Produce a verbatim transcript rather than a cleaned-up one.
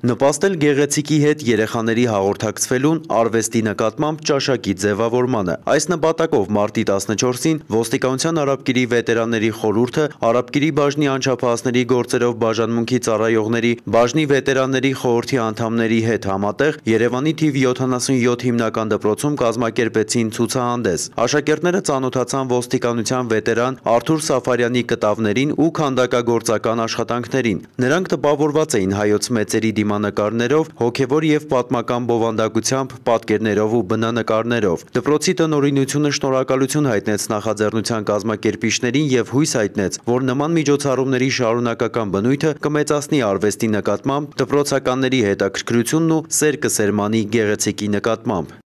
Նպաստել գեղեցիկի հետ երեխաների հաղորդակցվելուն արվեստի նկատմամբ ճաշակի ձևավորմանը։ Այս նպատակով մարտի տասնչորսին ոստիկանության Արաբկիրի վետերանների խորհուրդը Արաբկիրի բաժնի անչափահասների գործերով բաժանմունքի ծառայողների բաժնի վետերանների խորհրդի անդամների հետ համատեղ Երևանի թիվ յոթանասունյոթ հիմնական դպրոցում կազմակերպեցին ցուցահանդես։ Աշակերտները ծանոթացան ոստիկանության վետերան Արթուր Սաֆարյանի կտավներին ու քանդակագործական աշխատանքներին։ Նրանք տպավորված էին հայոց մեծերի դիմանկարներով, հոգևոր և պատմական բովանդակությամբ, պատկերներով ու բնանկարներով։ Դպրոցի տնօրինությունը շնորհակալություն հայտնեց նախաձեռնության կազմակերպիչներին և հույս հայտնեց, որ նման միջոցառումների շարունակական բնույթը կմեծացնի արվեստի նկատմամբ դպրոցականների հետաքրքրությունն ու սեր կսերմանի գեղեցիկի նկատմամբ։